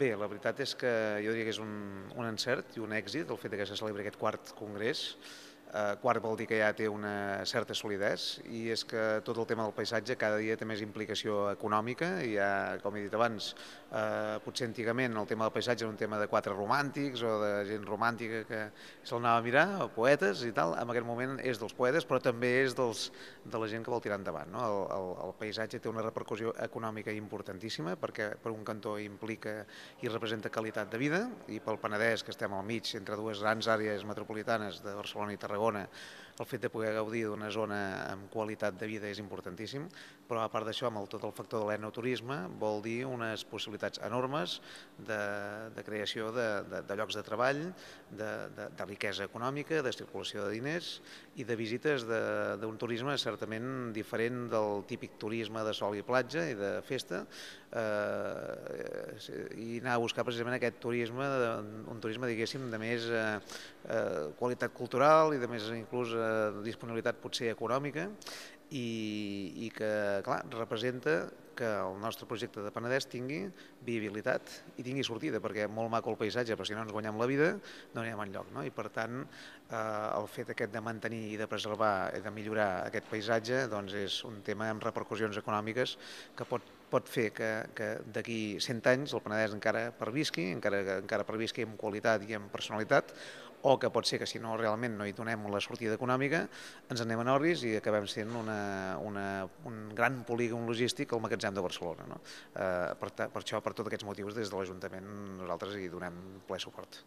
Bé, la veritat és que jo diria que és un encert i un èxit el fet que se celebri aquest quart congrés. Quart vol dir que ja té una certa solidesa i és que tot el tema del paisatge cada dia té més implicació econòmica i ja, com he dit abans, potser antigament el tema del paisatge era un tema de quatre romàntics o de gent romàntica que se'l anava a mirar, o poetes i tal. En aquest moment és dels poetes però també és de la gent que vol tirar endavant. No? El paisatge té una repercussió econòmica importantíssima perquè per un cantó implica i representa qualitat de vida i pel Penedès, que estem al mig entre dues grans àrees metropolitanes de Barcelona i Tarragona, el fet de poder gaudir d'una zona amb qualitat de vida és importantíssim, però a part d'això, amb tot el factor de l'enoturisme, vol dir unes possibilitats enormes de creació de llocs de treball, de riquesa econòmica, de circulació de diners i de visites d'un turisme certament diferent del típic turisme de sol i platja i de festa, i anar a buscar precisament aquest turisme, un turisme, diguéssim, de més qualitat cultural i de més inclús disponibilitat potser econòmica i que, clar, representa que el nostre projecte de Penedès tingui viabilitat i tingui sortida, perquè molt maco el paisatge, però si no ens guanyem la vida no anirem enlloc, no? I per tant el fet aquest de mantenir i de preservar i de millorar aquest paisatge doncs és un tema amb repercussions econòmiques que pot fer que d'aquí 100 anys el Penedès encara pervisqui, encara pervisqui amb qualitat i amb personalitat, o que pot ser que si no realment no hi donem la sortida econòmica ens anem en orris i acabem sent un gran polígon logístic al magatzem de Barcelona. No? Per això, per tots aquests motius, des de l'Ajuntament nosaltres hi donem ple suport.